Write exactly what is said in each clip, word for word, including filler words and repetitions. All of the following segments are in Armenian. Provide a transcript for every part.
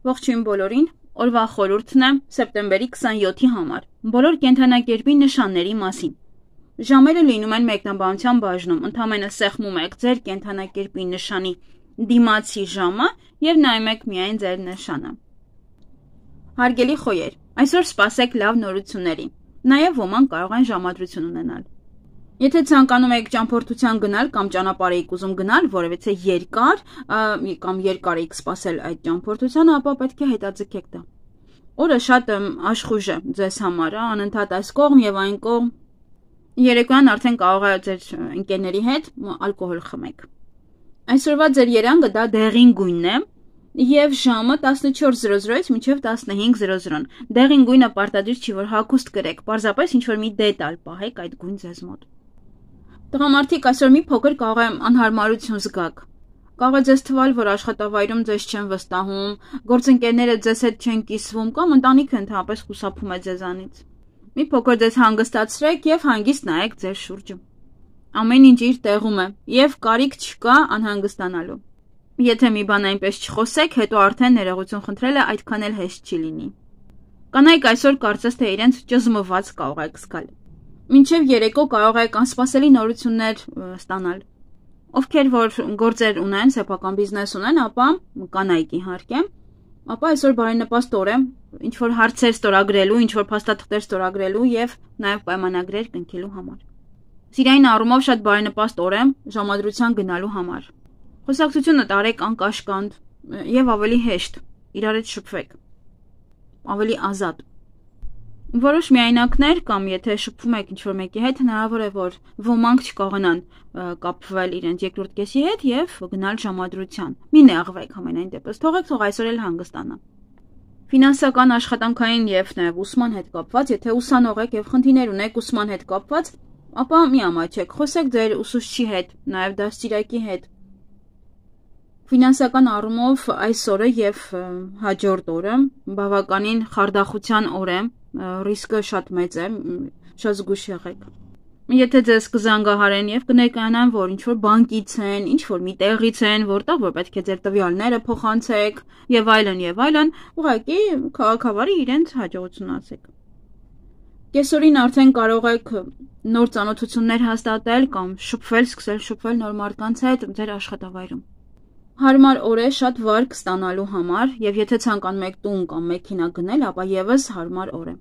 Ողջույն բոլորին, օրվա խորհուրդն է սեպտեմբերի քսանյոթի համար, բոլոր կենդանակերպի նշանների մասին։ Ժամերը լինում են մեկնաբանության բաժնում, ընդամենը սեղմում եք ձեր կենդանակերպի նշանի դիմացի ժամը և նայում եք միայն ձեր նշանը։ Հարգելի խոյեր, այսօր սպասեք լավ նորությունների, նաև ոմանք կարող են ժամադրություն ունենալ։ Եթե ցանկանում եք ճամփորդության գնալ կամ ճանապարհ եք ուզում գնալ որևէ երկար կամ երկար եք սպասել այդ ճամփորդությանը, ապա պետք է հետաձգեք դա։ Օրը շատ աշխույժ է ձեզ համար, անընդհատ այս կողմ եւ այն կողմ։ Երեկոյան արդեն կարող է ձեր ընկերների հետ ալկոհոլ խմեք։ Այսօրվա ձեր երանգը դա դեղին գույնն է եւ ժամը տասնչորս զրո զրոից մինչեւ տասնհինգ զրո զրո։ Դեղին գույնը պարտադիր չի որ հագուստ կրեք, պարզապես ինչ որ մի դետալ պահեք այդ գույն ձեզ մոտ։ Տղամարդիկ այսօր մի փոքր կարող է անհարմարություն զգաք։ Կարող է ձեզ թվալ, որ աշխատավայրում ձեզ չեն վստահում, գործընկերները ձեզ հետ չեն կիսվում կամ ընտանիքը ընդհանրապես խուսափում է ձեզանից։ Մի փոքր ձեզ հանգստացրեք եւ հանգիստ նայեք ձեր շուրջը։ Ամեն ինչ իր տեղում է եւ կարիք չկա անհանգստանալու։ Եթե մի բան այնպես չխոսեք, հետո արդեն ներողություն խնդրելը այդքան էլ հեշտ չի լինի։ Կանայք այսօր կարծես թե իրենց ճզմված կարող եք զգալ։ Մինչև երեկո կարող եք անսպասելի նորություններ ստանալ։ Ովքեր որ գործեր ունեն, սեփական բիզնես ունեն, ապա կանայք իհարկե, ապա այսօր բարենպաստ օր է, ինչ որ հարցեր ստորագրելու, ինչ որ փաստաթղթեր ստորագրելու եւ նաեւ պայմանագրեր կնքելու համար։ Սիրային առումով շատ բարենպաստ օր է ժամադրության գնալու համար։ Խոսակցությունը տարեք անկաշկանդ եւ ավելի հեշտ, իրար հետ շփվեք։ Ավելի ազատ։ Որոշ միայնակներ կամ եթե շփվում եք ինչ-որ մեկի հետ, հնարավոր է որ ոմանք չկարողանան կապվել իրենց երկրորդ կեսի հետ եւ գնալ ժամադրության։ Մի նեղվեք ամենայն դեպս, թողեք թող այսօր էլ հանգստանա։ Ֆինանսական, աշխատանքային եւ նաեւ ուսման հետ կապված, եթե ուսանող եք եւ խնդիրներ ունեք ուսման հետ կապված, ապա մի ամաչեք, խոսեք ձեր ուսուցչի հետ, նաեւ դաստիարակի հետ։ Ֆինանսական առումով այս օրը եւ հաջորդ օրը բավականին խարդախության օր է, ռիսկը շատ մեծ է, շատ զգույշ եղեք։ Եթե ձեզ կզանգահարեն եւ կներկայանան, որ ինչ որ բանկից են, ինչ որ մի տեղից են, որտեղ որ պետք է ձեր տվյալները փոխանցեք եւ այլն եւ այլն, ուղղակի քաղաքավարի իրենց հաջողությունացեք։ Կեսօրին արդեն կարող եք նոր ծանոթություններ հաստատել կամ շփվել, սկսել շփվել նոր մարդկանց հետ ձեր աշխատավայրում։ Հարմար օր է շատ վարկ ստանալու համար եւ եթե ցանկանում եք տուն կամ մեքենա գնել, ապա եւս հարմար օր է։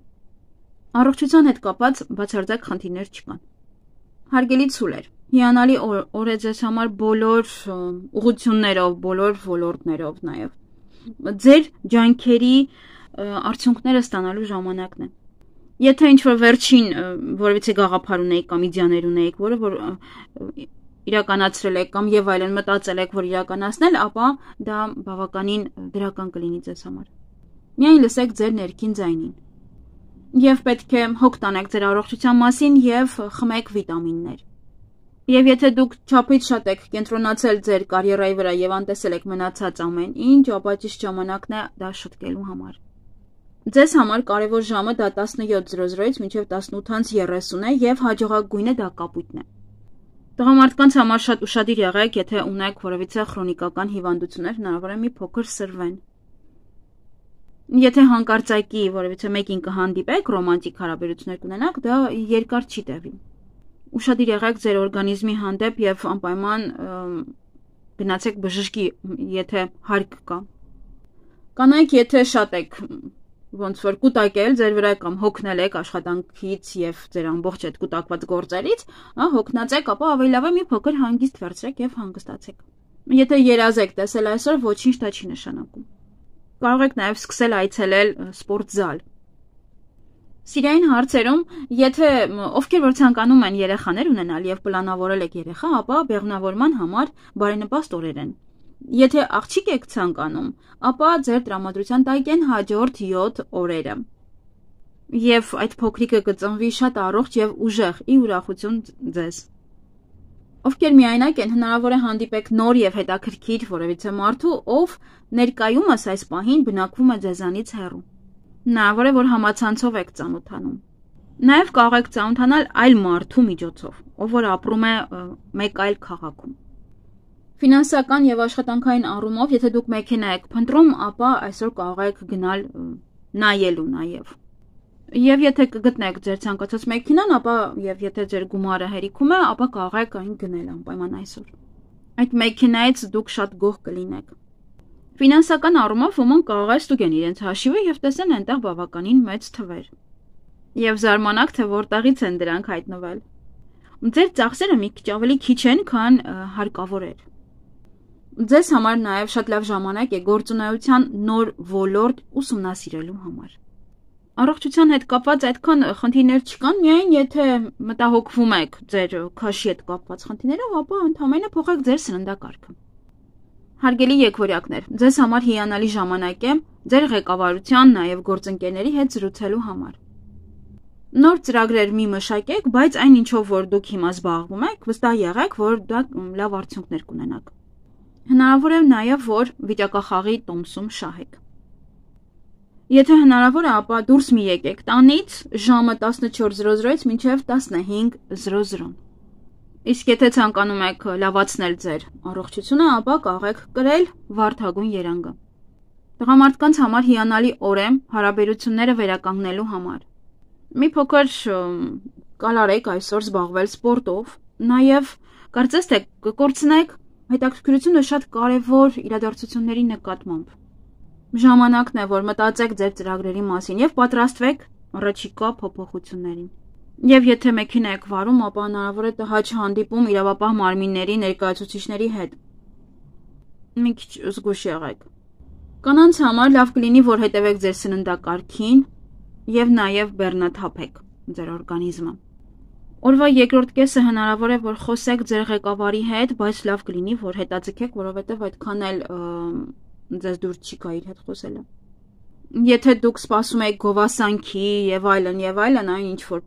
Առողջության հետ կապված բացարձակ խնդիրներ չկան։ Հարգելի ցուլեր, հիանալի օր է ձեզ համար բոլոր ուղղություններով, բոլոր ոլորտներով նաեւ։ Ձեր ջանքերի արդյունքները ստանալու ժամանակն է։ Եթե ինչ որ վերջին որևէ գաղափար ունեիք կամ իդեաներ ունեիք, որը որ իրականացրել եք կամ եւ այլն մտածել եք, որ իրականացնել, ապա դա բավականին դրական կլինի ձեզ համար։ Միայն լսեք ձեր ներքին ձայնին։ Եվ պետք է հոգ տանեք ձեր առողջության մասին եւ խմեք վիտամիններ։ Եվ եթե դուք չափից շատ եք կենտրոնացել ձեր կարիերայի վրա եւ անտեսել եք մնացած ամեն ինչ, ապա ճիշտ ժամանակն է դա շտկելու համար։ Ձեզ համար կարևոր ժամը դա տասնյոթ զրո զրոից մինչև տասնութ երեսուն է եւ հաջողակ գույնը դա կապույտն է։ Տղամարդկանց համար շատ ուշադիր եղեք, եթե ունեք որևէ քրոնիկական հիվանդություններ, հնարավոր է մի փոքր սրվեն։ Եթե հանկարծակի որևէ մեկին կհանդիպեք, ռոմանտիկ հարաբերություններ կունենաք, դա երկար չի տևի։ Ուշադիր եղեք ձեր օրգանիզմի հանդեպ եւ անպայման գնացեք բժշկի, եթե հարկ կա։ Կանայք, եթե շատ եք ոնց որ կուտակել ձեր վրա կամ հոգնել եք աշխատանքից եւ ձեր ամբողջ այդ կուտակված գործերից, հա հոգնած եք, ապա ավելի լավ է մի փոքր հանգիստ վերցրեք եւ հանգստացեք։ Եթե երազ եք տեսել այսօր, ոչինչ դա չի նշանակում։ Կարող եք նաեւ սկսել այցելել սպորտզալ։ Սիրային հարցերում, եթե ովքեր որ ցանկանում են երեխաներ ունենալ եւ պլանավորել եք երեխա, ապա բեղմնավորման համար բարենպաստ օրեր են։ Եթե աղջիկ եք ցանկանում, ապա ձեր տրամադրության տակ են հաջորդ յոթ օրերը։ Եվ այդ փոքրիկը կծնվի շատ առողջ եւ ուժեղ, ի ուրախություն ձեզ։ Ովքեր միայնակ են, հնարավոր է հանդիպեք նոր եւ հետաքրքիր որևէ մարդու, ով ներկայումս այս պահին բնակվում է ձեզանից հեռու։ Հնարավոր է որ համացանցով եք ծանոթանում։ Նաեւ կարող եք ծանոթանալ այլ մարդու միջոցով, ով որ ապրում է մեկ այլ քաղաքում։ Ֆինանսական եւ աշխատանքային առումով, եթե դուք մեքենա եք փնտրում, ապա այսօր կարող եք գնալ նայելու նաեւ։ Եվ եթե կգտնեք ձեր ցանկացած մեքենան, ապա եւ եթե ձեր գումարը հերիքում է, ապա կարող եք այն գնել անպայման այսօր։ Այդ մեքենայից դուք շատ գոհ կլինեք։ Ֆինանսական առումով ոմանք կարող է ստուգեն իրենց հաշիվը եւ տեսնեն այնտեղ բավականին մեծ թվեր։ Եվ զարմանաք, թե որտեղից են դրանք հայտնվել։ Ձեր ծախսերը մի քիչ ավելի քիչ են, քան հարկավոր էր։ Ձեզ համար նաեւ շատ լավ ժամանակ է գործունեության նոր ոլորտ ուսումնասիրելու համար։ Առողջության հետ կապված այդքան խնդիրներ չկան, միայն եթե մտահոգվում եք ձեր քաշի հետ կապված խնդիրներով, ապա ընդհանրապես փոխեք ձեր սննդակարգը։ Հարգելի եկվորյակներ, ձեզ համար հիանալի ժամանակ է ձեր ղեկավարության, նաև գործընկերների հետ զրուցելու համար։ Նոր ծրագրեր մի մշակեք, բայց այն ինչով որ դուք հիմա զբաղվում եք, վստահ եղեք, որ դա լավ արդյունքներ կունենաք։ Հնարավոր է նաև որ վիճակախաղի տոմսում շահեք։ Եթե հնարավոր է, ապա դուրս մի եկեք տանից ժամը տասնչորս զրո զրոից մինչև տասնհինգ զրո զրո։ Իսկ եթե ցանկանում եք լավացնել ձեր առողջությունը, ապա կարող եք կրել վարդագույն երանգը։ Տղամարդկանց համար հիանալի օր է հարաբերությունները վերականգնելու համար։ Մի փոքր կալարեք այսօր զբաղվել սպորտով, նաև կարծես թե կկորցնեք հետաքրքրությունը շատ կարևոր իրադարձությունների նկատմամբ։ Ժամանակն է, որ մտածեք ձեր ծրագրերի մասին եւ պատրաստվեք առաջիկա փոփոխություններին։ Եվ եթե մեքենա եք վարում, ապա հնարավոր է տհաճ հանդիպում իրավապահ մարմինների ներկայացուցիչների հետ։ Մի քիչ զգույշ եղեք։ Կանանց համար լավ կլինի, որ հետևեք ձեր սննդակարգին եւ նաեւ բեռնաթափեք ձեր օրգանիզմը։ Օրվա երկրորդ կեսը հնարավոր է, որ խոսեք ձեր ղեկավարի հետ, բայց լավ կլինի, որ հետաձգեք, որովհետեւ այդքան էլ ձեզ դուր չի գա իր հետ խոսելը։ Եթե դուք սպասում եք գովասանքի եւ այլն եւ այլն, այն ինչ որ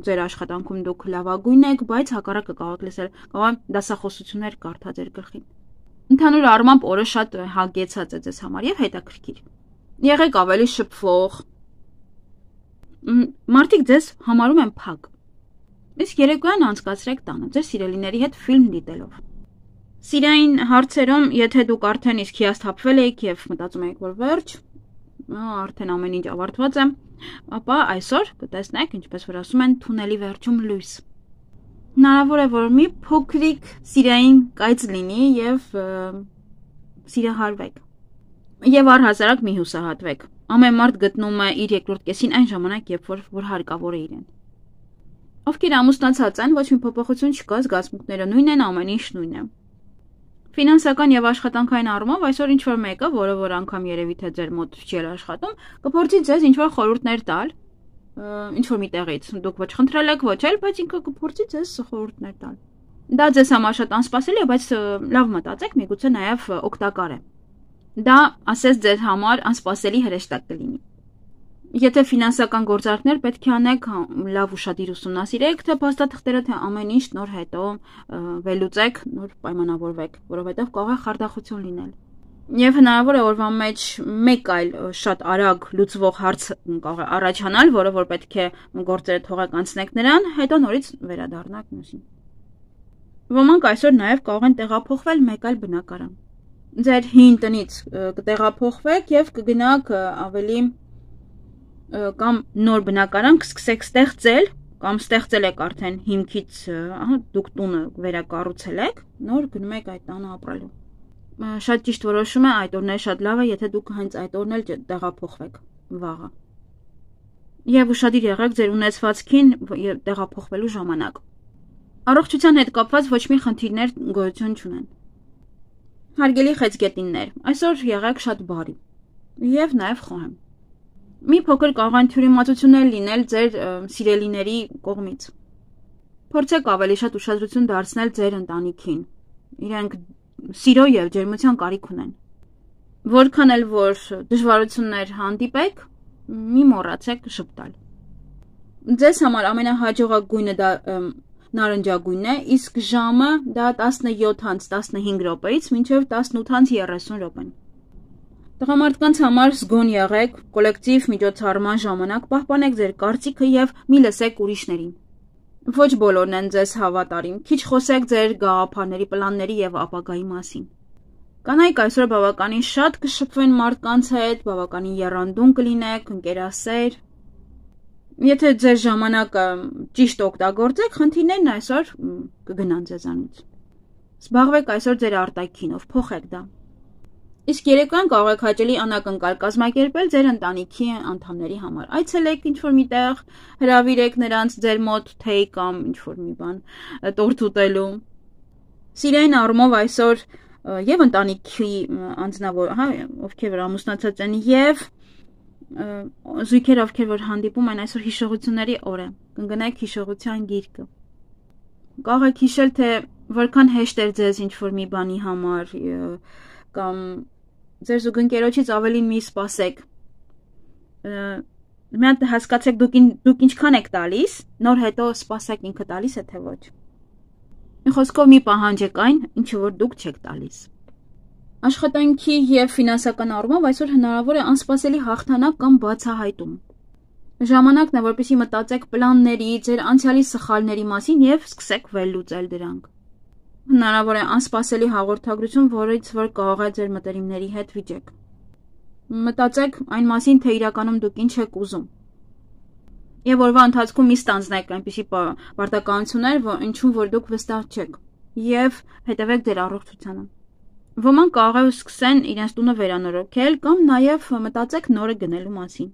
ձեր աշխատանքում դուք լավագույն եք, բայց հակառակը կարող եք լսել, կարող դասախոսություններ կարդա ձեր գլխին։ Ընդհանուր առմամբ օրը շատ հագեցած է ձեզ համար եւ հետաքրքիր։ Եղեք ավելի շփվող։ Մարդիկ ձեզ համարում են փակ։ Իսկ երեկոյան անցկացրեք տանը ձեր սիրելիների հետ ֆիլմ դիտելով։ Սիրային հարցերում, եթե դուք արդեն իսկ հիասթափվել եք եւ մտածում եք, որ վերջ, արդեն ամեն ինչ ավարտված է, ապա այսօր կտեսնեք, ինչպես որ ասում են, թունելի վերջում լույս։ Հնարավոր է, որ մի փոքրիկ սիրային կայծ լինի եւ սիրահարվեք։ Եվ առհասարակ մի հուսահատվեք։ Ամեն մարդ գտնում է իր երկրորդ կեսին այն ժամանակ, երբ որ, որ հարկավոր է իրեն։ Ովքեր ամուսնացած են, ոչ մի փոփոխություն չկա, զգացմունքները նույնն են, ամեն ինչ նույնն է։ Ֆինանսական եւ աշխատանքային առումով այսօր ինչ որ մեկը, որը որ անգամ երևի թե ձեր մոտ չի աշխատում, կփորձի ձեզ ինչ որ խորհուրդներ տալ, ինչ որ միտեղից։ Դուք ոչ խնդրել եք, ոչ էլ, բայց ինքը կփորձի ձեզ խորհուրդներ տալ։ Դա ձեզ համար շատ անսպասելի է, բայց լավ մտածեք, միգուցե նաեւ օգտակար է։ Դա ասես ձեր համար անսպասելի հրեշտակ կլինի։ Եթե ֆինանսական գործարքներ պետք է անեք, լավ ուշադիր ուսումնասիրեք, թե փաստաթղթերը, թե ամեն ինչ նոր հետո վերլուծեք, նոր պայմանավորվեք, որովհետև կարող է խարդախություն լինել։ Եվ հնարավոր է օրվա մեջ մեկ այլ շատ արագ լուծվող հարց կարող է առաջանալ, որը որ պետք է գործերը թողեք անցնեք նրան, հետո նորից վերադառնաք մյուսին։ Ոմանք այսօր նաև կարող են տեղափոխվել մեկ այլ բնակարան։ Ձեր հին տնից կտեղափոխվեք եւ կգնաք ավելի կամ նոր բնակարան կսկսեք ստեղծել, կամ ստեղծել եք արդեն հիմքից, ահա դուք տունը վերակառուցել եք, նոր գնում եք այդ տանը ապրելու։ Շատ ճիշտ որոշում է, այդ օրն է շատ լավ է, եթե դուք հենց այդ օրն էլ տեղափոխվեք վաղը։ Եվ ուշադիր եղեք ձեր ունեցվածքին տեղափոխվելու ժամանակ։ Առողջության հետ կապված ոչ մի խնդիրներ գոյություն չունեն։ Հարգելի խեցգետիններ, այսօր եղեք շատ բարի եւ նաեւ խոհեմ։ Մի փոքր կարող են թյուրիմացություններ լինել ձեր սիրելիների կողմից։ Փորձեք ավելի շատ ուշադրություն դարձնել ձեր ընտանիքին։ Իրենք սիրո եւ ջերմության կարիք ունեն։ Որքան էլ որ դժվարություններ հանդիպեք, մի մոռացեք շփտալ։ Ձեզ համար ամենահաջողակ դա նարնջագույնն է, իսկ ժամը դա տասնյոթ անց տասնհինգ րոպեից մինչև տասնութ անց երեսուն րոպեն։ Տղամարդկանց համար զգոն եղեք, կոլեկտիվ միջոցառման ժամանակ պահպանեք ձեր կարծիքը եւ մի լսեք ուրիշներին։ Ոչ բոլորն են ձեզ հավատարիմ, քիչ խոսեք ձեր գաղափարների, պլանների եւ ապագայի մասին։ Կանայք այսօր բավականին շատ կշփվեն մարդկանց հետ, բավականին եռանդուն կլինեք, ընկերասեր։ Եթե ձեր ժամանակը ճիշտ օգտագործեք, խնդիրներն այսօր կգնան ձեզանից։ Զբաղվեք այսօր ձեր արտաքինով, փոխեք դա։ Իսկ երեկոյան կարող եք հաճելի անակնկալ կազմակերպել ձեր ընտանիքի անդամների համար։ Այցելեք ինչ-որ միտեղ, հրավիրեք նրանց ձեր մոտ թեյ կամ ինչ-որ մի բան տորտ ուտելու։ Սիրային առումով այսօր եւ ընտանիքի անձնավոր, հա, ովքեր որ ամուսնացած են, եւ զույգեր, ովքեր որ հանդիպում են, այսօր հիշողությունների օր է։ Կընկնեք հիշողության գիրկը։ Կարող եք հիշել, թե որքան հեշտ էր ձեզ ինչ-որ մի բանի համար կամ ձեր զուգընկերոջից ավելին մի սպասեք։ Մի հատ հասկացեք դուք, դուք ինչքան եք տալիս, նոր հետո սպասեք ինքը տալիս է թե ոչ։ Մի խոսքով մի պահանջեք այն, ինչը որ դուք չեք տալիս։ Աշխատանքի եւ ֆինանսական առումով այսօր հնարավոր է անսպասելի հաղթանակ կամ բացահայտում։ Ժամանակն է, որպեսզի մտածեք պլանների, ձեր անցյալի սխալների մասին եւ սկսեք վերլուծել դրանք։ Հնարավոր է անսպասելի հաղորդագրություն, որից որ կարող է ձեր մտերիմների հետ վիճեք։ Մտածեք այն մասին, թե իրականում դուք ինչ եք ուզում։ Եվ օրվա ընթացքում մի ստանձնեք այնպիսի պարտականություններ, որ ինչու որ դուք վստահ չեք, եւ հետևեք ձեր առողջությանը։ Ոմանք կարող է սկսեն իրենց տունը վերանորոգել կամ նաեւ մտածեք նորը գնելու մասին։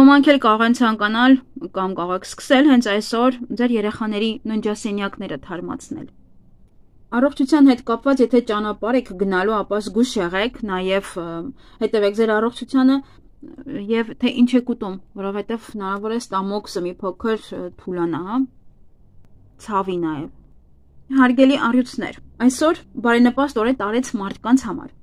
Ոմանք էլ կարող են ցանկանալ կամ կարող եք սկսել հենց այսօր ձեր երեխաների ննջասենյակները թարմացնել։ Առողջության հետ կապված, եթե ճանապարհ եք գնալու, ապա զգույշ եղեք, նաեւ հետևեք ձեր առողջությանը եւ թե ինչ եք ուտում, որովհետեւ հնարավոր է ստամոքսը մի փոքր թուլանա, հա, ցավի նաեւ։ Հարգելի առյուծներ, այսօր բարենպաստ օր է տարեց մարդկանց համար։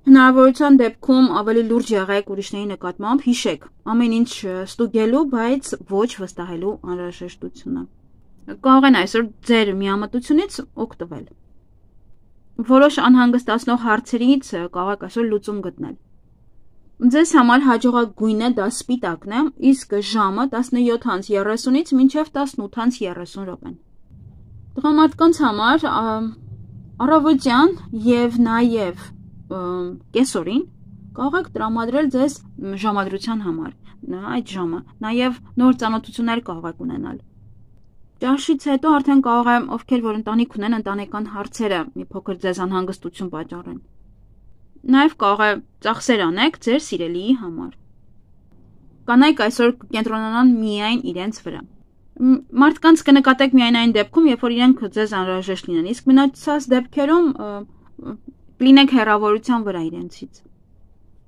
Հնարավորության դեպքում ավելի լուրջ եղեք ուրիշների նկատմամբ, հիշեք ամեն ինչ ստուգելու, բայց ոչ վստահելու անհրաժեշտությունը։ Կարող են այսօր ձեր միամտությունից օգտվել։ Որոշ անհանգստացնող հարցերից կարող եք այսօր լուծում գտնել։ Ձեզ համար հաջողակ գույնը դա սպիտակն է, իսկ ժամը տասնյոթ երեսունից մինչև տասնութ երեսուն րոպեն։ Տղամարդկանց համար առավոտյան եւ նաեւ կեսօրին կարող եք տրամադրել ձեզ ժամադրության համար, այդ ժամը, նաեւ նոր ծանոթություններ կարող եք ունենալ։ Ճաշից հետո արդեն կարող է ովքեր որ ընտանիք ունեն, ընտանեկան հարցերը մի փոքր ձեզ անհանգստություն պատճառեն։ Նաև կարող է ծախսեր անեք ձեր սիրելիի համար։ Կանայք այսօր կենտրոնանան միայն իրենց վրա։ Մարդկանց կնկատեք միայն այն դեպքում, երբ որ իրենք ձեզ անհրաժեշտ լինեն, իսկ մնացած դեպքերում լինեք հեռավորության վրա իրենցից։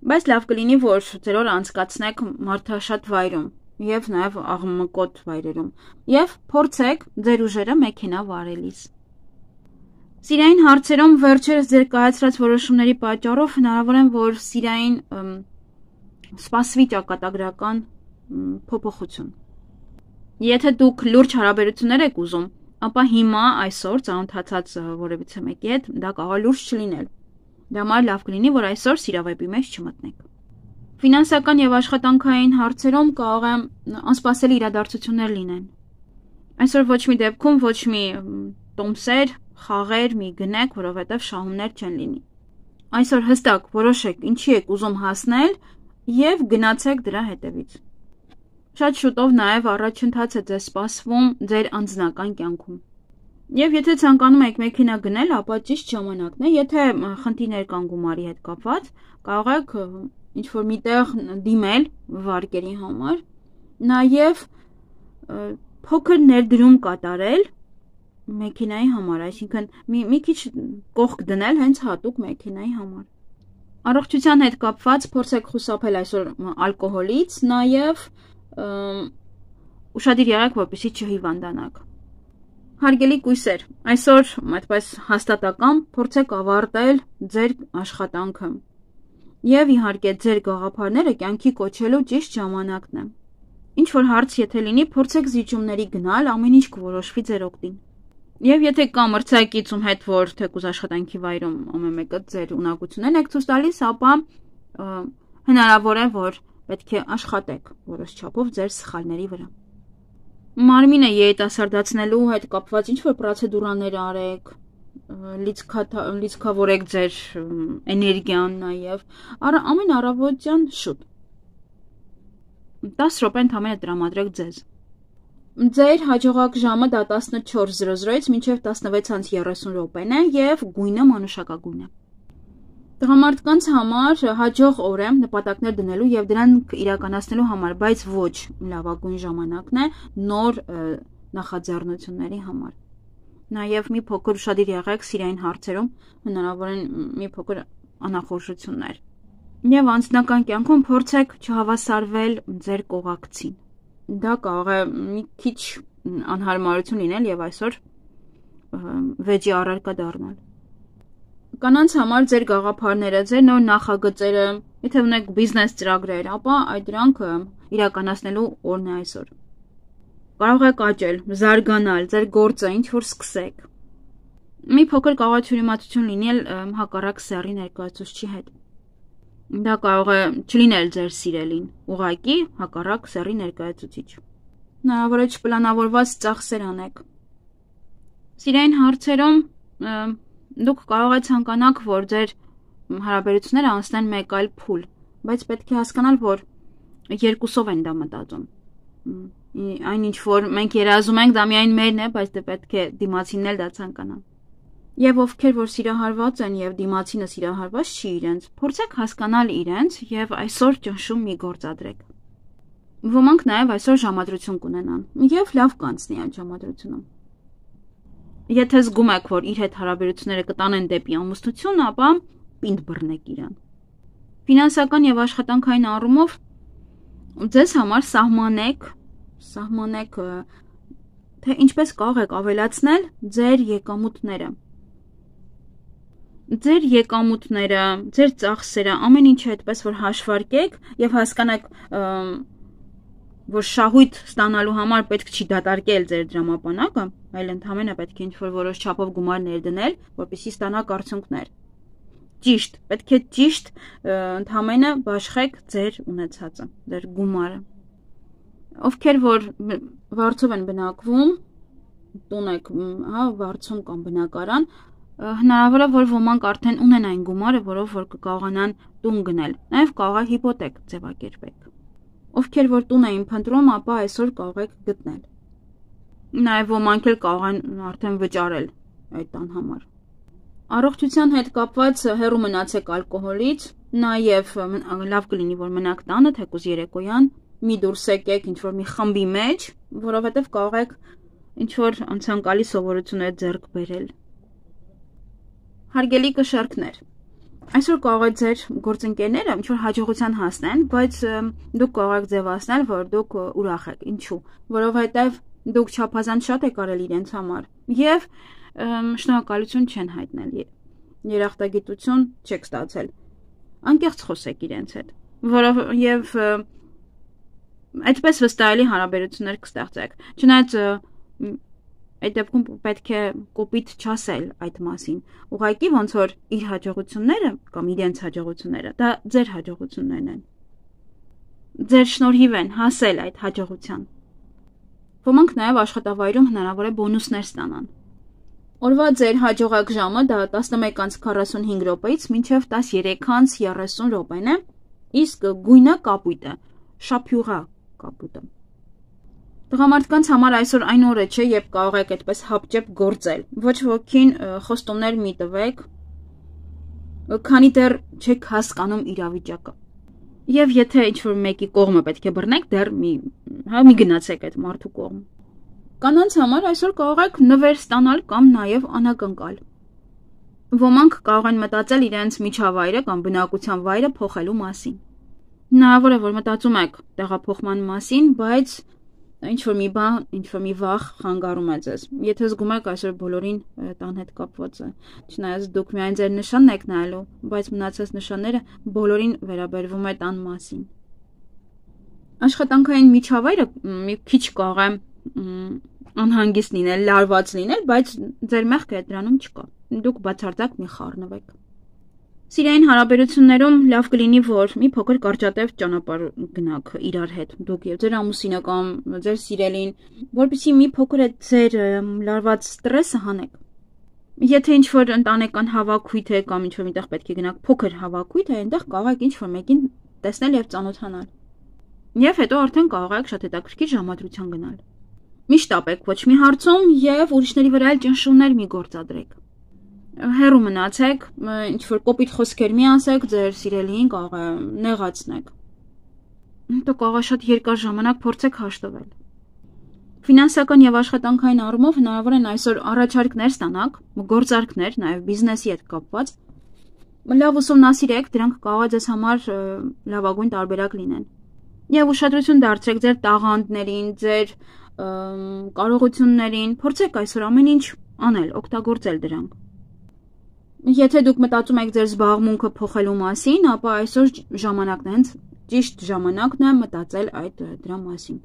Բայց լավ կլինի, որ ձեր օրը անցկացնեք մարդաշատ վայրում եւ նաեւ աղմկոտ վայրերում եւ փորձեք ձեր ուժերը մեքենա վարելիս։ Սիրային հարցերում վերջերս ձեր կայացրած որոշումների պատճառով հնարավոր է, որ սիրային սպասվի ճակատագրական փոփոխություն։ Եթե դուք լուրջ հարաբերություններ եք ուզում, ապա հիմա այսօր ծանոթացած որևիցե մեկի հետ դա կարող է լուրջ չլինել։ Դա համար լավ կլինի, որ այսօր սիրավեպի մեջ չմտնեք։ Ֆինանսական եւ աշխատանքային հարցերում կարող է անսպասելի իրադարձություններ լինեն։ Այսօր ոչ մի դեպքում ոչ մի տոմսեր, խաղեր մի գնեք, որովհետեւ շահումներ չեն լինի։ Այսօր հստակ որոշեք ինչի եք ուզում հասնել եւ գնացեք դրա հետևից։ Շատ շուտով նաեւ առաջընթաց է ձեզ սպասվում ձեր անձնական կյանքում։ Եվ եթե ցանկանում եք մեքենա գնել, ապա ճիշտ ժամանակն է, եթե խնդիրներ կան գումարի հետ կապված, կարող եք ինչ-որ միտեղ դիմել վարկերի համար, նաև փոքր ներդրում կատարել մեքենայի համար, այսինքն մի, մի քիչ կողք դնել հենց հատուկ մեքենայի համար։ Առողջության հետ կապված փորձեք խուսափել այսօր ալկոհոլից, նաև ուշադիր եղեք, որպեսզի չհիվանդանաք։ Հարգելի կույսեր, այսօր այդպես հաստատակամ փորձեք ավարտել ձեր աշխատանքը եւ իհարկե ձեր գաղափարները կյանքի կոչելու ճիշտ ժամանակն է։ Ինչ որ հարց եթե լինի, փորձեք զիջումների գնալ, ամեն ինչ կորոշվի ձեր օգտին։ Եվ եթե կա մրցակից ում հետ որ թեկուզ աշխատանքի վայրում ամեն մեկը ձեր ունակությունն եք ցույց տալիս, ապա հնարավոր է որ պետք է աշխատեք որոշ չափով ձեր սխալների վրա։ Մարմինը երիտասարդացնելու հետ կապված ինչ-որ պրոցեդուրաներ արեք, լիցքավորեք ձեր էներգիան նաև, ամեն առավոտյան շուտ տասը րոպե ընդամենը տրամադրեք ձեզ։ Ձեր հաջողակ ժամը դա տասնչորս զրո զրոից մինչև տասնվեց անց երեսուն րոպեն է և գույնը մանուշակագույն է։ Տղամարդկանց համար հաջող օր է նպատակներ դնելու և դրանք իրականացնելու համար, բայց ոչ լավագույն ժամանակն է նոր նախաձեռնությունների համար։ Նաև մի փոքր ուշադիր եղեք սիրային հարցերում, հնարավոր են մի փոքր անախորժություններ։ Եվ անձնական կյանքում փորձեք չհավասարվել ձեր կողակցին։ Դա կարող է մի քիչ անհարմարություն լինել և այսօր վեճի առարկա դառնալ։ Կանանց համար ձեր գաղափարները, ձեր նոր նախագծերը, եթե ունեք բիզնես ծրագրեր, ապա այդ դրանք իրականացնելու օրն է այսօր։ Կարող եք աճել, զարգանալ, ձեր գործը ինչ-որ սկսեք։ Մի փոքր կարող է թյուրիմացություն լինել հակառակ սեռի ներկայացուցչի հետ։ Դա կարող է չլինել ձեր սիրելին, ուղղակի հակառակ սեռի ներկայացուցիչ։ Հնարավոր է չպլանավորված ծախսեր անեք։ Սիրային հարցերում դուք կարող եք ցանկանաք, որ ձեր հարաբերությունները անցնեն մեկ այլ փուլ, բայց պետք է հասկանալ, որ երկուսով են դա մտածում։ Այն ինչ որ մենք երազում ենք, դա միայն մերն է, բայց դե պետք է դիմացինն էլ դա ցանկանա։ Եվ ովքեր որ սիրահարված են եւ դիմացինը սիրահարված չի իրենց, փորձեք հասկանալ իրենց եւ այսօր ճնշում մի գործադրեք։ Ոմանք նաեւ այսօր ժամադրություն կունենան եւ լավ կանցնի այդ ժամադրությունը։ Եթե զգում եք, որ իր հետ հարաբերությունները կտանեն դեպի ամուսնություն, ապա պինդ բռնեք իրան։ Ֆինանսական եւ աշխատանքային առումով ձեզ համար սահմանեք, սահմանեք, թե ինչպես կարող եք ավելացնել ձեր եկամուտները։ Ձեր եկամուտները, ձեր ծախսերը, ամեն ինչը այդպես որ հաշվարկեք եւ հասկանաք, որ շահույթ ստանալու համար պետք չի դատարկել ձեր դրամապանակը, այլ ընդհանրապես պետք է ինչ-որ որոշ չափով գումար ներդնել, որպեսզի ստանաք արդյունքներ։ Ճիշտ, պետք է ճիշտ ընդհանրապես բաշխեք ձեր ունեցածը, ձեր գումարը։ Ովքեր որ վարձով են բնակվում, տուն եք, հա, վարձում կամ բնակարան, հնարավոր է որ ոմանք արդեն ունեն այն գումարը, որով որ կկարողանան տուն գնել, նաև կարող է հիպոթեք ձևակերպեք։ Ովքեր որ տուն էին փնտրում, ապա այսօր կարող եք գտնել։ Նաև ոմանք էլ կարող են արդեն վճարել այդ տան համար։ Առողջության հետ կապված հեռու մնացեք ալկոհոլից, նաև լավ կլինի որ մնաք տանը, թեկուզ երեկոյան, մի դուրս եկեք ինչ-որ մի խմբի մեջ, որովհետև կարող եք ինչ-որ անցանկալի սովորություններ ձեռք բերել։ Հարգելի կշեռքներ, այսօր կարող է ձեր գործընկերները ինչ-որ հաջողության հասնեն, բայց դուք կարող եք ձևացնել, որ դուք ուրախ եք, ինչու, որովհետև դուք չափազանց շատ եք արել իրենց համար և շնորհակալություն չեն հայտնել, երախտագիտություն չեք ստացել, անկեղծ խոսեք իրենց հետ, որով և այդպես վստահելի հարաբերություններ կստեղծեք, չնայած այդ դեպքում պետք է կոպիտ չասել այդ մասին, ուղղակի ոնց որ իր հաջողությունները կամ իրենց հաջողությունները, դա ձեր հաջողություններն են, ձեր շնորհիվ են հասել այդ հաջողության։ Ոմանք նաև աշխատավայրում հնարավոր է բոնուսներ ստանան։ Օրվա ձեր հաջողակ ժամը դա տասնմեկ անց քառասունհինգ րոպեից մինչև տասներեք անց երեսուն րոպեն է, իսկ գույնը կապույտը, շափյուղա կապույտը։ Տղամարդկանց համար այսօր այն օրը չէ, երբ կարող եք այդպես հապճեպ գործել, ոչ ոքին խոստումներ մի տվեք, քանի դեռ չեք հասկանում իրավիճակը։ Եվ եթե ինչ-որ մեկի կողմը պետք է բռնեք, դեռ մի, հա, մի գնացեք այդ մարդու կողմ։ Կանանց համար այսօր կարող եք նվեր ստանալ կամ նաև անակնկալ։ Ոմանք կարող են մտածել իրենց միջավայրը կամ բնակության վայրը փոխելու մասին։ Հնարավոր է, որ մտածում եք տեղափոխման մասին, բայց ինչ-որ մի բան, ինչ-որ մի վախ խանգարում է ձեզ։ Եթե զգում եք այսօր բոլորին տան հետ կապված է, չնայած դուք միայն ձեր նշանն եք նայելու, բայց մնացած նշանները բոլորին վերաբերվում է տան մասին։ Աշխատանքային միջավայրը մի քիչ կարող է անհանգիստ լինել, լարված լինել, բայց ձեր մեղքը դրանում չկա։ Դուք բացարձակ մի խառնվեք։ Սիրային հարաբերություններում լավ կլինի, որ մի փոքր կարճատև ճանապարհ գնաք իրար հետ, դուք եւ ձեր ամուսինը կամ ձեր սիրելին, որպեսզի մի փոքր այդ ձեր լարված ստրեսը հանեք։ Եթե ինչ-որ ընտանեկան հավաքույթ է կամ ինչ-որ միտեղ պետք է գնաք փոքր հավաքույթ է, այնտեղ կարող եք ինչ-որ մեկին տեսնել եւ ծանոթանալ։ Եվ հետո արդեն կարող եք շատ հետաքրքիր ժամադրության գնալ։ Մի շտապեք ոչ մի հարցում եւ ուրիշների վրա էլ ճնշումներ մի գործադրեք։ Հեռու մնացեք, ինչ-որ կոպիտ խոսքեր մի ասեք, ձեր սիրելիին կարող է նեղացնեք։ Հետո կարող է շատ երկար ժամանակ փորձեք հաշտվել։ Ֆինանսական եւ աշխատանքային առումով հնարավոր են այսօր առաջարկներ ստանաք, գործարքներ, նաեւ բիզնեսի հետ կապված։ Լավ ուսումնասիրեք, դրանք կարող է ձեզ համար լավագույն տարբերակ լինեն։ Եվ ուշադրություն դարձրեք ձեր տաղանդներին, ձեր կարողություններին, փորձեք այսօր ամեն ինչ անել, օգտագործել դրանք։ Եթե դուք մտածում եք ձեր զբաղմունքը փոխելու մասին, ապա այսօր ժամանակն է, հենց ճիշտ ժամանակն է մտածել այդ դրա մասին։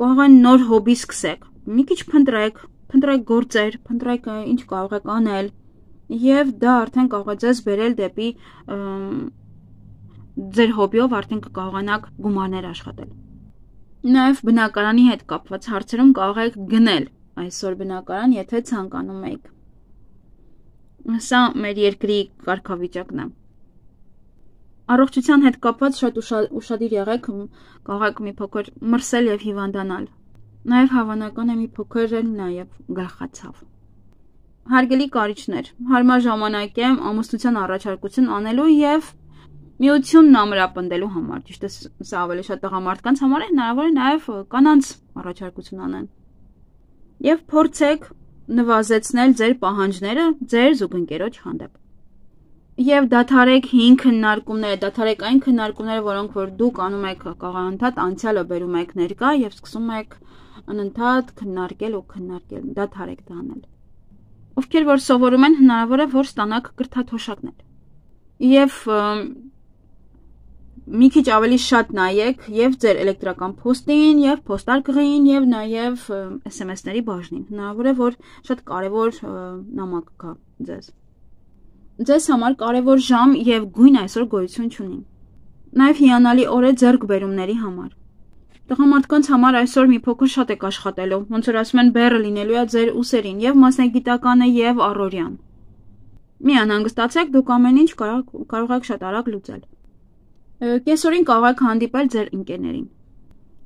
Կարող է նոր հոբի սկսեք, մի քիչ փնտրեք, փնտրեք գործեր, փնտրեք ինչ կարող եք անել, եւ դա արդեն կարող է ձեզ բերել դեպի ձեր հոբիով արդեն կկարողանաք գումարներ աշխատել։ Նաեւ բնակարանի հետ կապված հարցերում կարող եք գնել այսօր բնակարան, եթե ցանկանում եք։ Սա մեր երկրի կարգավիճակն է։ Առողջության հետ կապված շատ ուշադիր եղեք, կարող եք մի փոքր մրսել եւ հիվանդանալ։ Նաեւ հավանական է մի փոքր էլ նաեւ գլխացավ։ Հարգելի կարիճներ, հարմար ժամանակ է ամուսնության առաջարկություն անելու եւ միությունն ամրապնդելու համար։ Ճիշտ է, սա ավելի շատ տղամարդկանց համար է, հնարավոր է նաեւ կանանց առաջարկություն անեն։ Եվ փորձեք նվազեցնել ձեր պահանջները ձեր զուգընկերոջ հանդեպ։ Եվ դադարեք հին քննարկումները, դադարեք այն քննարկումները, որոնք որ դուք անում եք կաղանթատ անցյալը բերում եք ներկա եւ սկսում եք անընդհատ քննարկել ու քննարկել, դադարեք դա անել։ Ովքեր որ սովորում են, հնարավոր է որ ստանաք կրթաթոշակներ։ Եվ մի քիչ ավելի շատ նայեք եւ ձեր էլեկտրական փոստին եւ փոստարկղին եւ նաեւ էս էմ էս-ների բաժնին։ Հնարավոր է որ շատ կարեւոր նամակ գա ձեզ։ Ձեզ համար կարեւոր ժամ եւ գույն այսօր գոյություն չունի։ Նաեւ հիանալի օր է ձեռքբերումների համար։ Տղամարդկանց համար այսօր մի փոքր շատ եք աշխատելու, ոնց որ ասում են բեռը լինելու է ձեր ուսերին եւ մասնագիտականը եւ առօրյան։ Մի անհանգստացեք, դուք ամեն ինչ կարող եք շատ արագ լուծել։ Կեսօրին կարող եք հանդիպել ձեր ընկերներին։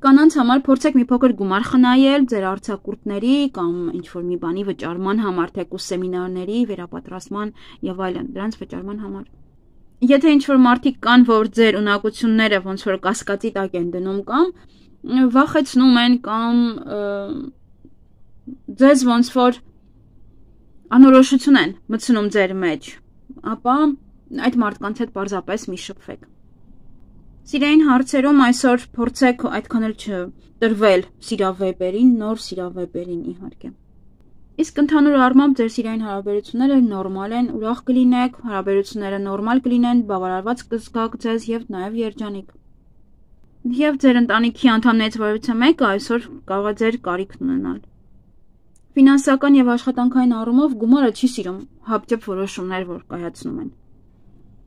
Կանանց համար փորձեք մի փոքր գումար խնայել ձեր արձակուրդների կամ ինչ-որ մի բանի վճարման համար, թեկուզ սեմինարների, վերապատրաստման եւ այլն, դրանց վճարման համար։ Եթե ինչ-որ մարդիկ կան, որ ձեր ունակությունները ոնց որ կասկածի տակ են դնում կամ վախեցնում են կամ ձեզ ոնց որ անորոշություն են մտցնում ձեր մեջ, ապա այդ մարդկանց հետ պարզապես մի շփվեք։ Սիրային հարցերում այսօր փորձեք այդքան էլ չտրվել սիրավեպերին, նոր սիրավեպերին իհարկե։ Իսկ ընդհանուր առմամբ ձեր սիրային հարաբերությունները նորմալ են, ուրախ կլինեք, հարաբերությունները նորմալ կլինեն, բավարարված կզգաք ձեզ եւ նաեւ երջանիկ։ Եվ ձեր ընտանիքի անդամներից որևիցե մեկը այսօր կարող է ձեր կարիքն ունենալ։ Ֆինանսական եւ աշխատանքային առումով գումարը չի սիրում հապճեպ որոշումներ, որ կայացնում են։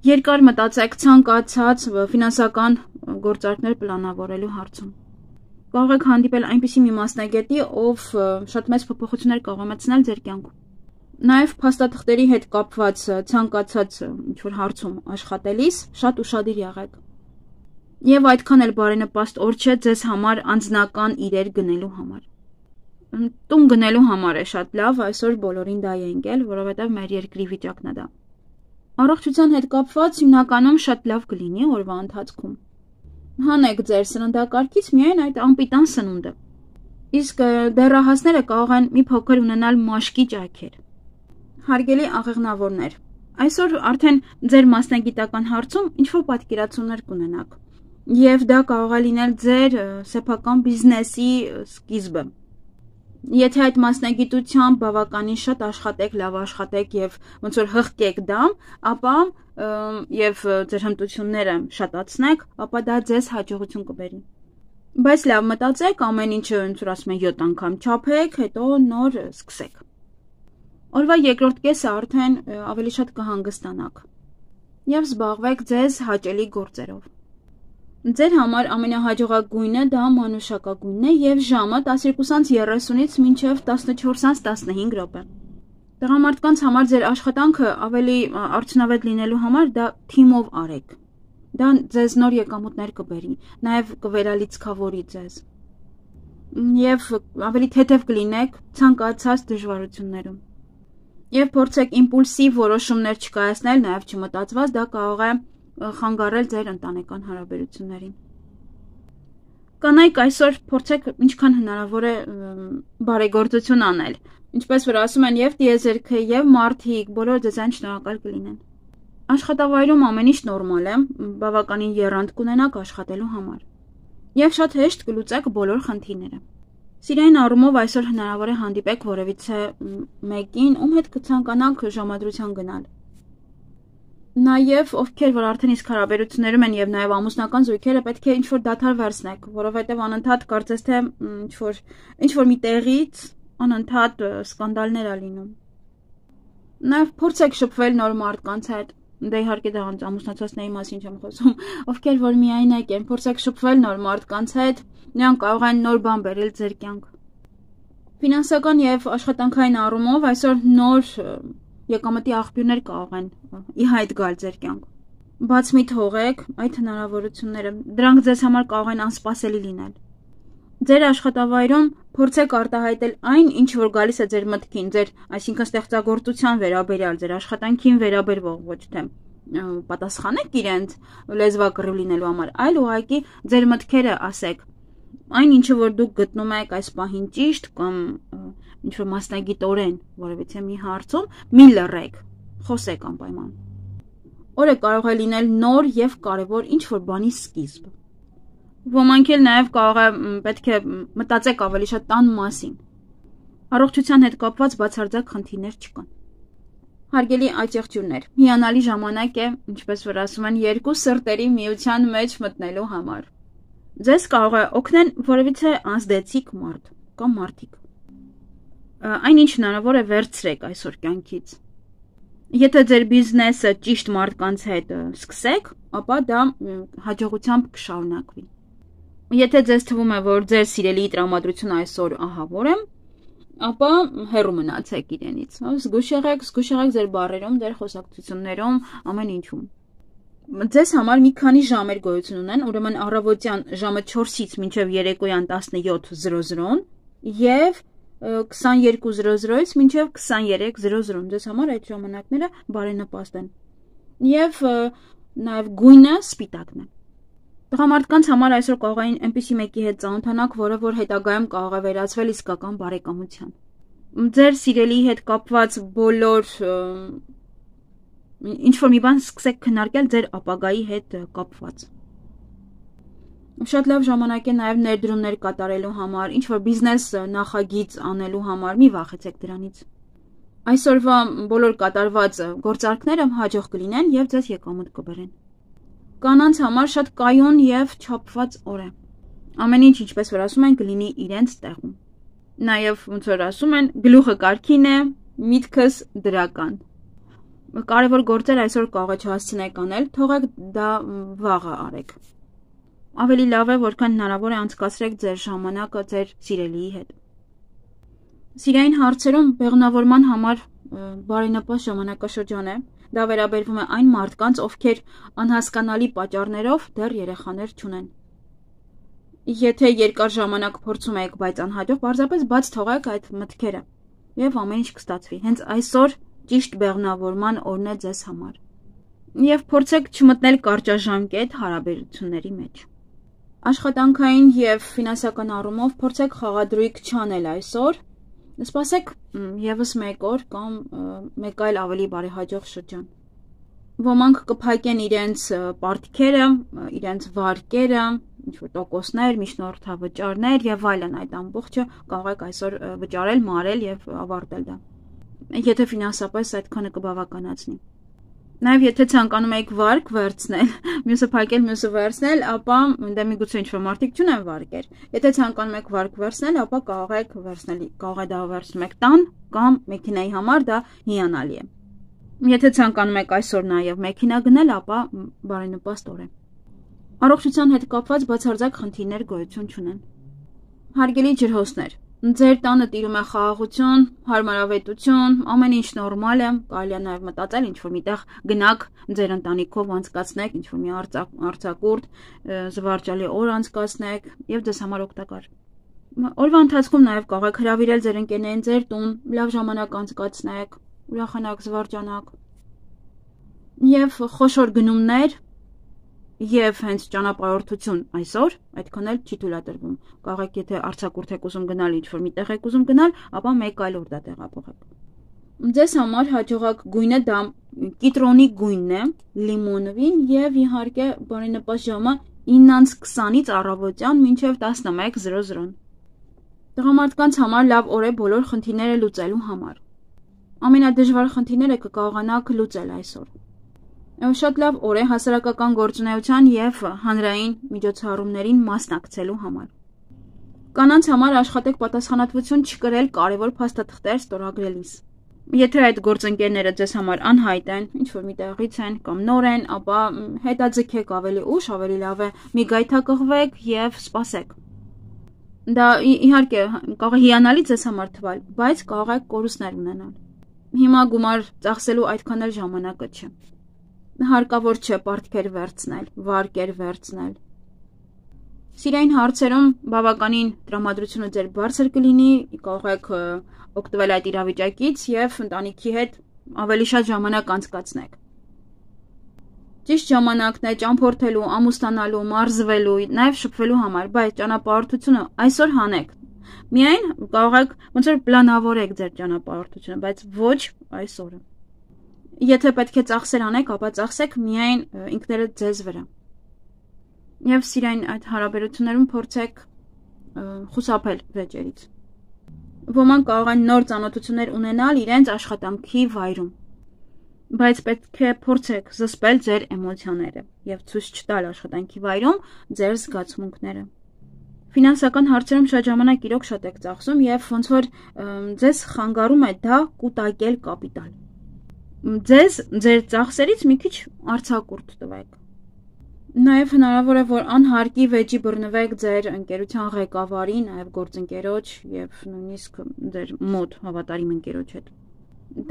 Երկար մտածեք ցանկացած ֆինանսական գործարքներ պլանավորելու հարցում։ Կարող եք հանդիպել այնպիսի մի մասնագետի, ով շատ մեծ փոփոխություններ կարող է մտցնել ձեր կյանքում։ Նաև փաստաթղթերի հետ կապված ցանկացած ինչ-որ հարցում աշխատելիս շատ ուշադիր եղեք։ Եվ այդքան էլ բարենպաստ օր չէ ձեզ համար անձնական իրեր գնելու համար։ Տուն գնելու համար է շատ լավ, այսօր բոլորին դա է ընկել, որովհետև մեր երկրի վիճակն է դա։ Առողջության հետ կապված հիմնականում շատ լավ կլինի օրվա ընթացքում։ Հանեք ձեր սննդակարգից միայն այդ անպիտան սնունդը։ Իսկ դեռահասները կարող են մի փոքր ունենալ մաշկի ճայքեր։ Հարգելի աղեղնավորներ, այսօր արդեն ձեր մասնագիտական հարցում ինչ-որ պատկերացումներ կունենաք, եւ դա կարող է լինել ձեր սեփական բիզնեսի սկիզբը։ Եթե այդ մասնագիտությամբ բավականին շատ աշխատեք, լավ աշխատեք եւ ոնց որ հղկեք դա, ապա եւ ձեր հմտությունները շատացնեք, ապա դա ձեզ հաջողություն կբերի։ Բայց լավ մտածեք, ամեն ինչը ոնց որ ասում են յոթ անգամ չափեք, հետո նոր սկսեք։ Օրվա երկրորդ կեսը արդեն ավելի շատ կհանգստանաք եւ զբաղվեք ձեզ հաճելի գործերով։ Ձեր համար ամենահաջողակագույնը դա մանուշակագույնն է եւ ժամը տասներկուսից երեսունից մինչեւ տասնչորսից տասնհինգ րոպե։ Տղամարդկանց համար ձեր աշխատանքը ավելի արդյունավետ լինելու համար դա թիմով արեք։ Դա ձեզ նոր եկամուտներ կբերի, նաեւ կվերալիցքավորի ձեզ։ Եվ ավելի թեթև կլինեք ցանկացած դժվարություններում։ Եվ փորձեք իմպուլսիվ որոշումներ չկայացնել, նաեւ չմտածված, դա կարող է խանգարել ձեր ընտանեկան հարաբերություններին։ Կանայք այսօր փորձեք ինչքան հնարավոր է բարեգործություն անել, ինչպես որ ասում են եւ տիեզերքը եւ մարդիկ, բոլորը ձեզան շնորհակալ կլինեն։ Աշխատավայրում ամեն ինչ նորմալ է, բավականին եռանդ կունենաք աշխատելու համար։ Եվ շատ հեշտ կլուծեք բոլոր խնդիրները։ Սիրային առումով այսօր հնարավոր է հանդիպեք որևիցե մեկին, ում հետ կցանկանաք ժամադրության գնալ։ Նաև ովքեր որ արդեն իսկ հարաբերություններում են եւ նաև ամուսնական զույգերը պետք է ինչ-որ դադար վերցնեք, որովհետեւ անընդհատ կարծես թե ինչ-որ ինչ-որ մի տեղից անընդհատ սկանդալներ ա լինում։ Նաև փորձեք շփվել նոր մարդկանց հետ, դե իհարկե դա ամուսնացածների մասին չեմ խոսում, ովքեր որ միայնակ են, փորձեք շփվել նոր մարդկանց հետ, նրանք կարող են նոր բան բերել ձեր կյանք։ Ֆինանսական եւ աշխատանքային առումով այսօր նոր եկամտի աղբյուրներ կարող են ի հայտ գալ ձեր կյանք։ Բաց մի թողեք այդ հնարավորությունները, դրանք ձեզ համար կարող են անսպասելի լինել։ Ձեր աշխատավայրում փորձեք արտահայտել այն, ինչ որ գալիս է ձեր մտքին, ձեր, այսինքն ստեղծագործության վերաբերյալ, ձեր աշխատանքին վերաբերող, ոչ թե պատասխանեք իրենց լեզվակռիվ լինելու համար, այլ ուղղակի ձեր մտքերը ասեք։ Այն ինչը որ դուք գտնում եք այս պահին ճիշտ կամ ինչ որ մասնագիտորեն որևիցե մի հարցում, մի լռեք, խոսեք անպայման։ Օրը կարող է լինել նոր եւ կարեւոր ինչ որ բանի սկիզբ։ Ոմանք էլ նաեւ կարող է պետք է մտածեք ավելի շատ տան մասին։ Առողջության հետ կապված բացարձակ խնդիրներ չկան։ Հարգելի այցեղջյուրներ, հիանալի ժամանակ է, ինչպես որ ասում են, երկու սրտերի միության մեջ մտնելու համար։ Ձեզ կարող է օգնել որևիցե ազդեցիկ մարդ կամ մարդիկ։ Այն ինչ հնարավոր է վերցրեք այսօր կյանքից։ Եթե ձեր բիզնեսը ճիշտ մարդկանց հետ սկսեք, ապա դա հաջողությամբ կշարունակվի։ Եթե ձեզ թվում է, որ ձեր սիրելի տրամադրությունը այսօր ահավոր է, ապա հեռու մնացեք իրենից։ Զգույշ եղեք, զգույշ եղեք ձեր բառերում, ձեր խոսակցություններում, ամեն ինչում։ Ձեզ համար մի քանի ժամեր գոյություն ունեն, ուրեմն առավոտյան ժամը չորսից մինչև երեկոյան տասնյոթ եւ քսաներկու ից մինչև քսաներեք ձեզ համար այդ ժամանակները բարենպաստ են։ Եվ նաև գույնը սպիտակն է։ Տղամարդկանց համար այսօր կարող են այնպիսի մեկի հետ ծանոթանաք, որը որ հետագայում կարող է վերածվել իսկական բարեկամության։ Ձեր սիրելի հետ կապված բոլոր ինչ որ մի բան սկսեք քննարկել ձեր ապագայի հետ կապված։ Շատ լավ ժամանակ է նաև ներդրումներ կատարելու համար, ինչ որ բիզնես նախագիծ անելու համար, մի վախեցեք դրանից։ Այսօրվա բոլոր կատարված գործարքները հաջող կլինեն եւ ձեզ եկամուտ կբերեն։ Կանանց համար շատ կայուն եւ չափված օր է։ Ամեն ինչ, ինչպես որ ասում են, կլինի իրենց տեղում։ Նաեւ ոնց որ ասում են, գլուխը կարքին է, միտքս դրական։ Կարևոր գործեր այսօր կարող է չհասցնեք անել, թողեք դա վաղը արեք։ Ավելի լավ է, որքան հնարավոր է անցկացրեք ձեր ժամանակը ձեր սիրելիի հետ։ Սիրային հարցերում բեղմնավորման համար բարենպաստ ժամանակաշրջան է։ Դա վերաբերվում է այն մարդկանց, ովքեր անհասկանալի պատճառներով դեռ երեխաներ չունեն։ Եթե երկար ժամանակ փորձում եք, բայց անհաջող, պարզապես բաց թողեք այդ մտքերը եւ ամեն ինչ կստացվի։ Հենց այսօր ճիշտ բեղմնավորման օրն է ձեզ համար։ Եվ փորձեք չմտնել կարճաժամկետ հարաբերությունների մեջ։ Աշխատանքային եւ ֆինանսական առումով փորձեք խաղադրույք չանել այսօր։ Սպասեք եւս մեկ օր կամ մեկ այլ ավելի բարեհաջող շրջան։ Ոմանք կփակեն իրենց պարտքերը, իրենց վարկերը, ինչ-որ տոկոսներ, միջնորդավճարներ եւ այլն, այդ ամբողջը կարող եք այսօր վճարել, մարել եւ ավարտել դա։ Եթե ֆինանսապես այդքանը կբավականացնի։ Նաև եթե ցանկանում եք վարկ վերցնել, մյուսը փակել, մյուսը վերցնել, ապա դե միգուցե ինչ-որ մարդիկ չունեն վարկեր։ Եթե ցանկանում եք վարկ վերցնել, ապա կարող եք վերցնել, կարող եք դա վերցնում եք տան կամ մեքենայի համար դա հիանալի է։ Եթե ցանկանում եք այսօր նաև մեքենա գնել, ապա բարենպաստ օր է։ Առողջության հետ կապված բացարձակ խնդիրներ գոյություն չունեն։ Հարգելի ջրհոսներ, ձեր տանը տիրում է խաղաղություն, հարմարավետություն, ամեն ինչ նորմալ է, կարելի է նաև մտածել ինչ-որ միտեղ գնաք ձեր ընտանիքով անցկացնեք, ինչ-որ մի արձակուրդ, զվարճալի օր անցկացնեք եւ ձեզ համար օգտակար։ Օրվա ընթացքում նաև կարող եք հրավիրել ձեր ընկերներին ձեր տուն, լավ ժամանակ անցկացնեք, ուրախանաք, զվարճանաք եւ խոշոր գնումներ Եվ հենց ճանապարհորդություն այսօր այդքան էլ չի թույլատրվում։ Կարող եք եթե արձակուրդ եք ուզում գնալ, ինչ-որ մի տեղ եք ուզում գնալ, ապա մեկ այլ օր դա տեղափոխեք։ Ձեզ համար հաջողակ գույնը դա կիտրոնի գույնն է, լիմոնովին եւ իհարկե բարենպաստ ժամը իննից քսանից առավոտյան մինչեւ տասնմեկ զրո զրո։ Տղամարդկանց համար լավ օր է բոլոր խնդիրները լուծելու համար։ Ամենադժվար խնդիրները կկարողանաք լուծել այսօր։ Շատ լավ օր է հասարակական գործունեության եւ հանրային միջոցառումներին մասնակցելու համար։ Կանանց համար աշխատեք պատասխանատվություն չկրել կարևոր փաստաթղթեր ստորագրելիս։ Եթե այդ գործընկերները ձեզ համար անհայտ են, ինչ որ մի տեղից են կամ նոր են, ապա հետաձգեք ավելի ուշ, ավելի լավ է մի գայթակղվեք եւ սպասեք։ Դա իհարկե կարող է հիանալի ձեզ համար թվալ, բայց կարող է կորուստներ ունենալ։ Հիմա գումար ծախսելու այդքան էլ ժամանակը չէ։ Հարկավոր չէ պարտքեր վերցնել, վարկեր վերցնել։ Սիրային հարցերում բավականին տրամադրությունը ձեր բարձր կլինի, կարող եք օգտվել այդ իրավիճակից եւ ընտանիքի հետ ավելի շատ ժամանակ անցկացնեք։ Ճիշտ ժամանակն է ճամփորդելու, ամուսնանալու, մարզվելու, նաեւ շփվելու համար, բայց ճանապարհորդությունը այսօր հանեք։ Միայն կարող եք ոնց որ պլանավորեք ձեր ճանապարհորդությունը, բայց ոչ այսօրը։ Եթե պետք է ծախսեր անեք, ապա ծախսեք միայն ինքներդ ձեզ վրա։ Եվ սիրային այդ հարաբերություններում փորձեք խուսափել վեճերից։ Ոմանք կարող են նոր ծանոթություններ ունենալ իրենց աշխատանքի վայրում, բայց պետք է փորձեք զսպել ձեր էմոցիաները եւ ցույց չտալ աշխատանքի վայրում ձեր զգացմունքները։ Ֆինանսական հարցերում շատ ժամանակ իրոք շատ եք ծախսում եւ ոնց որ ձեզ խանգարում է դա կուտակել կապիտալ։ Ձեզ ձեր ծախսերից մի քիչ արձակուրդ տվեք։ Նաև հնարավոր է, որ անհարկի վեճի բռնվեք ձեր ընկերության ղեկավարի, նաև գործընկերոջ եւ նույնիսկ ձեր մոտ հավատարիմ ընկերոջ հետ։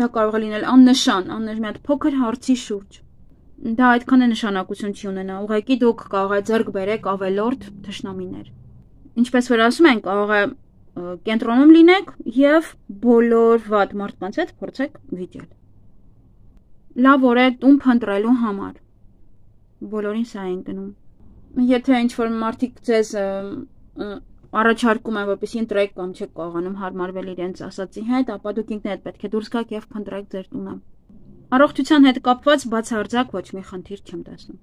Դա կարող է լինել աննշան, աննշան մի հատ փոքր հարցի շուրջ։ Դա այդքան է նշանակություն չի ունենա, ուղղակի դուք կարող եք ձեռք բերեք ավելորդ թշնամիներ։ Ինչպես որ ասում են, կարող է կենտրոնում լինեք եւ բոլոր վատ մարդկանց հետ փորձեք վիճել։ Լավ օր է տուն փնտրելու համար։ Բոլորին սա են գնում։ Եթե ինչ-որ մարդիկ ձեզ առաջարկում են, որպեսզի ընտրեք կամ չեք կարողանում հարմարվել իրենց ասածի հետ, ապա դուք ինքներդ պետք է դուրս գաք եւ փնտրեք ձեր տունը։ Առողջության հետ կապված բացարձակ ոչ մի խնդիր չեմ տեսնում։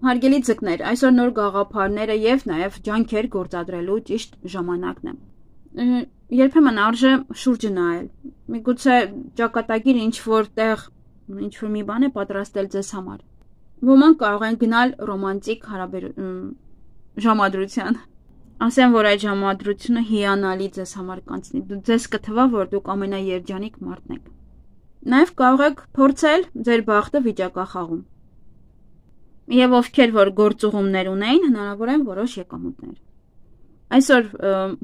Հարգելի ձկներ, այսօր նոր գաղափարները եւ նաեւ ջանքեր գործադրելու ճիշտ ժամանակն է։ Երբեմն արժե շուրջը նայել։ Միգուցե ճակատագիր ինչ-որ տեղ ինչ-որ մի բան է պատրաստել ձեզ համար։ Ոմանք կարող են գնալ ռոմանտիկ ժամադրության։ Ասեմ, որ այդ ժամադրությունը հիանալի ձեզ համար կանցնի։ Ձեզ կթվա, որ դուք ամենաերջանիկ մարդն եք։ Նաև կարող եք փորձել ձեր բախտը վիճակախաղում։ Եվ ովքեր որ գործուղումներ ունեին, հնարավոր են որոշ եկամուտներ։ Այսօր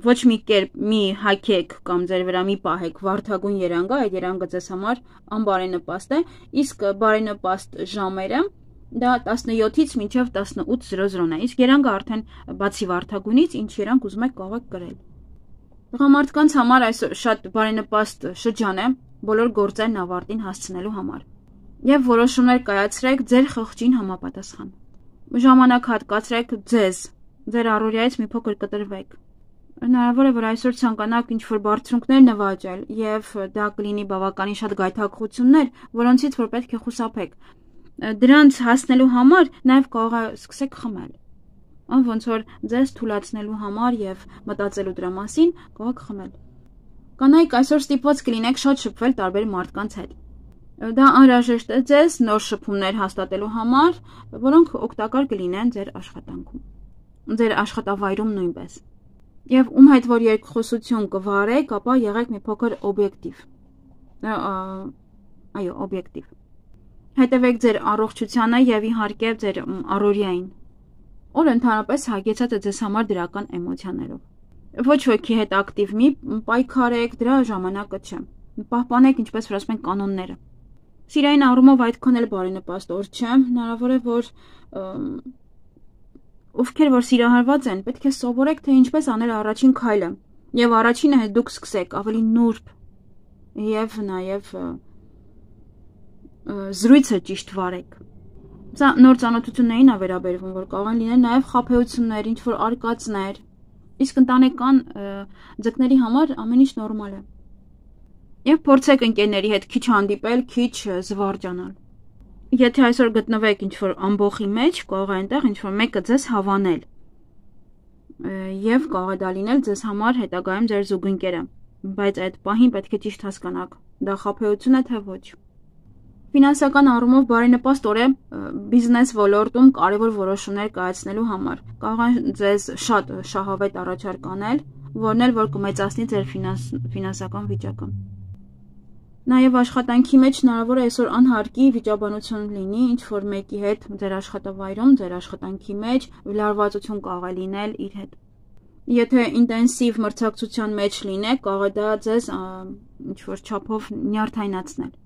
ոչ մի կերպ մի հագեք կամ ձեր վրա մի պահեք վարդագույն երանգը, այդ երանգը ձեզ համար անբարենպաստ է, իսկ բարենպաստ ժամերը դա տասնյոթից մինչև տասնութ զրո զրոն է, իսկ երանգը արդեն բացի վարդագույնից ինչ երանգ ուզում եք կարող եք կրել։ Տղամարդկանց համար այսօր շատ բարենպաստ շրջան է բոլոր գործերն ավարտին հասցնելու համար եւ որոշումներ կայացրեք ձեր խղճին համապատասխան։ Ժամանակ հատկացրեք ձեզ, ձեր առօրյայից մի փոքր կտրվեք։ Հնարավոր է, որ այսօր ցանկանաք ինչ-որ բարձրունքներ նվաճել եւ դա կլինի բավականին շատ գայթակղություններ, որոնցից որ պետք է խուսափեք։ Դրանց հասնելու համար նաեւ կարող է սկսեք խմել։ Ան ոնց որ ձեզ թուլացնելու համար եւ մտածելու դրա մասին կարող եք խմել։ Կանայք այսօր ստիպված կլինեք շատ շփվել տարբեր մարդկանց հետ։ Դա անհրաժեշտ է ձեզ նոր շփումներ հաստատելու համար, որոնք օգտակար կլինեն ձեր աշխատանքում, ձեր աշխատավայրում նույնպես։ Եվ ում հետ որ երկխոսություն կվարեք, ապա եղեք մի փոքր օբյեկտիվ։ Այո, օբյեկտիվ։ Հետևեք ձեր առողջությանը եւ իհարկե ձեր առօրյային։ Օրը ընդհանրապես հագեցած է ձեզ համար դրական էմոցիաներով։ Ոչ ոքի հետ ակտիվ մի պայքարեք, դրա ժամանակը չէ։ Պահպանեք, ինչպես որ ասում են, կանոնները։ Սիրային առումով այդքան էլ բարենպաստ օր չէ, հնարավոր է, որ ովքեր որ սիրահարված են, պետք է սովորեք, թե ինչպես անել առաջին քայլը, եւ առաջինը դուք սկսեք ավելի նուրբ եւ նաեւ զրույցը ճիշտ վարեք։ Սա նոր ծանոթություններին է վերաբերվում, որ կարող են լինել նաեւ խաբեություններ, ինչ որ արկածներ, իսկ ընտանեկան ձկների համար ամեն ինչ նորմալ է։ Եվ փորձեք ընկերների հետ քիչ հանդիպել, քիչ զվարճանալ։ Եթե այսօր գտնվեք ինչ-որ ամբոխի մեջ, կարող է այնտեղ ինչ-որ մեկը ձեզ հավանել։ Եվ կարող է դա լինել ձեզ համար հետագայում ձեր զուգընկերը, բայց այդ պահին պետք է ճիշտ հասկանաք, դա խաբեություն է թե ոչ։ Ֆինանսական առումով բարենպաստ օր է բիզնես ոլորտում կարևոր որոշումներ կայացնելու համար։ Կարող է ձեզ շատ շահավետ առաջարկ անել, որն էլ որ կմեծացնի ձեր ֆինանսական վիճակը։ Նաև աշխատանքի մեջ հնարավոր է այսօր անհարկի վիճաբանություն լինի, ինչ որ մեկի հետ ձեր աշխատավայրում, ձեր աշխատանքի մեջ լարվածություն կարող է լինել իր հետ։ Եթե ինտենսիվ մրցակցության մեջ լինեք, կարող է դա ձեզ ինչ որ չափով նյարդայնացնել։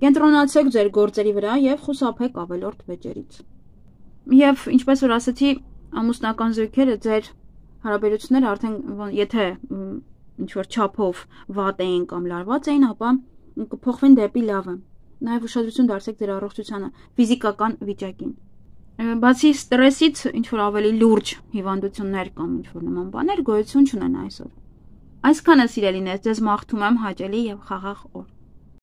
Կենտրոնացեք ձեր գործերի վրա եւ խուսափեք ավելորդ վեճերից։ Եվ ինչպես որ ասացի, ամուսնական զույգերը ձեր հարաբերությունները արդեն եթե ինչ որ չափով վատ էին կամ լարված էին, ապա կփոխվեն դեպի լավը։ Նաև ուշադրություն դարձեք ձեր առողջությանը, ֆիզիկական վիճակին։ Բացի ստրեսից, ինչ որ ավելի լուրջ հիվանդություններ կամ ինչ որ նման բաներ գոյություն չունեն այսօր։ Այսքանը սիրելիներ, ձեզ մաղթում եմ հաճելի եւ խաղաղ օր։